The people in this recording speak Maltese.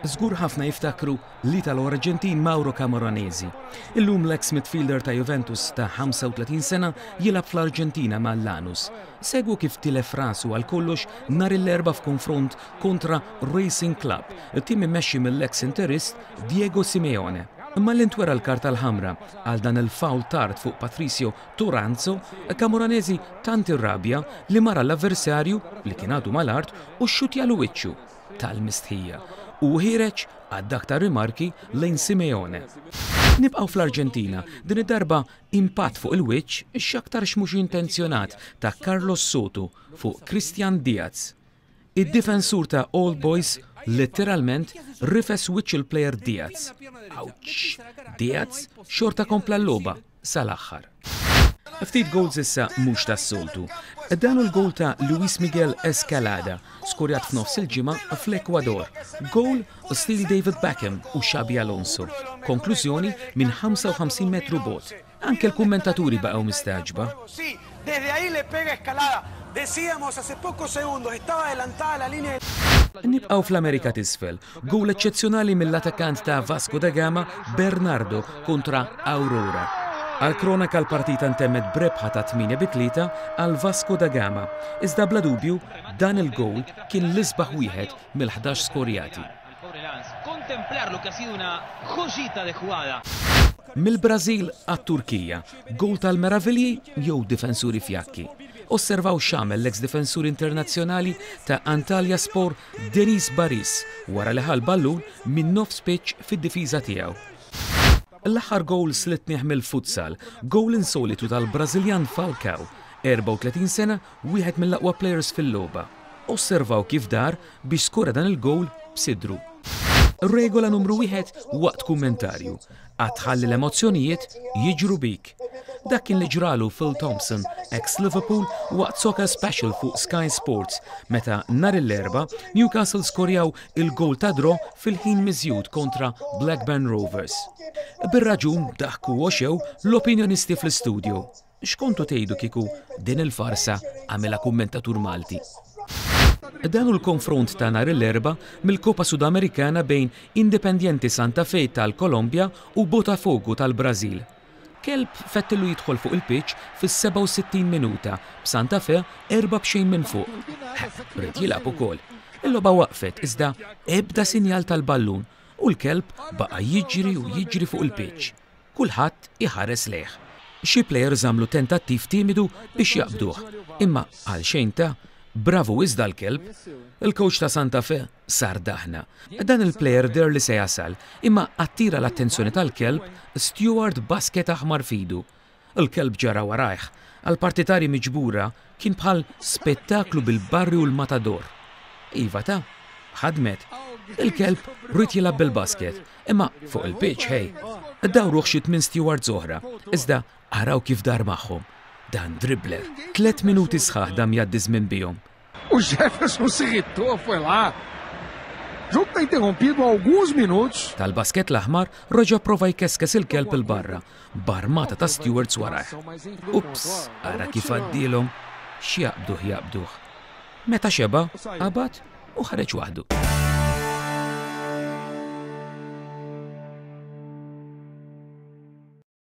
Żgur ħafna jiftakru l-Italo-Arġentin Mauro Camoranesi. Illum l-eks midfielder ta' Juventus ta' 35 sena jilgħab fl-Arġentina ma' Lanus. Segwu kif tilef rasu għal kollox nhar l-Erbgħa f'konfront kontra Racing Club, tim immexxi mill-eks Interist Diego Simeone. Malli ntwera l-karta l-ħamra għal dan il-foul tard fuq Patricio Toranzo, Camoranesi tant irrabja li mar għall-avversarju li kien għadu mal-art u xxutjalu wiċċu. Tal-mistħija. U ħiereġ għadd aktar rimarki lejn Simeone. Nibqgħu fl-Arġentina, din id-darba impatt fuq il-wiċċ x'aktarx mhux intenzjonat ta' Carlos Soto fuq Cristian Diaz. Id-difensur ta' All Boys letteralment rifes wiċċ il-plejer Diaz. Awċ! Diaz xorta kompla l-logħba sal-aħħar. Ftit goals issa mhux tas-soltu. Dan hu l-goal ta' Luis Miguel Escalada, skorjat f'nofs il-ġimgħa fl-Ekwador. Goal stil David Beckham u Xabi Alonso. Konklużjoni minn 55 metru bogħod. Anke l-kummentaturi baqgħu mistagħġba. Nibqgħu fl-Amerika t'Isfel. Gowl eċċezzjonali mill-attakkant ta' Vasco da Gama, Bernardo, kontra Aurora. Għall-kronaka l-partita ntemmet b'rebħa ta' 8 bi 3 għal Vasco da Gama. Iżda bla dubju, dan il-gowl kien l-isbaħ wieħed mill-ħdax skorjati. Mill-Brażil għat-Turkija, gowl tal-meravilji jew difensuri fjakki? Osservaw x'għamel l-eks difensur internazzjonali ta' Antalyaspor Deniz Baris wara li ħa l-ballun minn nofs pitch fid-difiża tiegħu. L-aħħar gowl slitnih mill-futsal, gowl insolitu tal-Brażiljan Falcao, 34 sena, wieħed mill-aqwa plejers fil-logħba. Osservaw kif dar biex skora dan il-gowl b'sidru. Regola numru wieħed waqt kummentarju, qatt tħalli l-emozzjonijiet jiġru bik. Dak kien li ġralu Phil Thompson, ex Liverpool, waqt Soccer Special fuq Sky Sports meta nhar l-Erbgħa Newcastle skorjaw il-gowl ta' draw fil-ħin miżjud kontra Blackburn Rovers. Bir-raġun daħku u għoxew l-opinjonisti fl-istudio. X'kontu tgħidu kieku din il-farsa għamilha kummentatur Malti? Dan hu l-konfront ta' nhar l-Erbgħa mill-Copa Sudamericana bejn Independiente Santa Fe tal-Kolombja u Botafogo tal-Brażil. Kelb fettillu jidħol fuq il-pitch fis-67 minuta b'Santa Fe 4-0 minn fuq. Ħeqq, ried jilgħab ukoll. Il-logħba waqfet iżda ebda sinjal tal-ballun u l-kelb baqa' jiġri u jiġri fuq il-pitch. Kulħadd iħares lejh. Xi plejers għamlu tentattiv timidu biex jaqbduh, imma għal xejn ta' bravu iżda l-kelb. Il-kowċ ta' Santa Fe sar daħna. Dan il-plejer deher li se jasal, imma attira l-attenzjoni tal-kelb Steward basket aħmar f'idu. Il-kelb ġara warajh. Għall-partitarji miġbura kien bħal spettaklu bil-barri u l-matador. Iva ta', ħadmet. Il-kelb ried jilgħab bil-basket, imma fuq il-pitch, hey. Dawruh xi tmien stewards oħra, iżda araw kif dar magħhom. Dan dribbler. Tlett minuti sħaħ dam jgħaddi żmien bihom. O Jefferson se irritou, foi lá. Jogo tá interrompido há alguns minutos. Tal-basket l-aħmar reġa' pprova jkeskes il-kelb 'il barra, b'armata ta' stewards warajh. Ups, ara kif għaddielhom! X'jaqbduh jaqbduh. Meta xeba', qabad u ħareġ waħdu.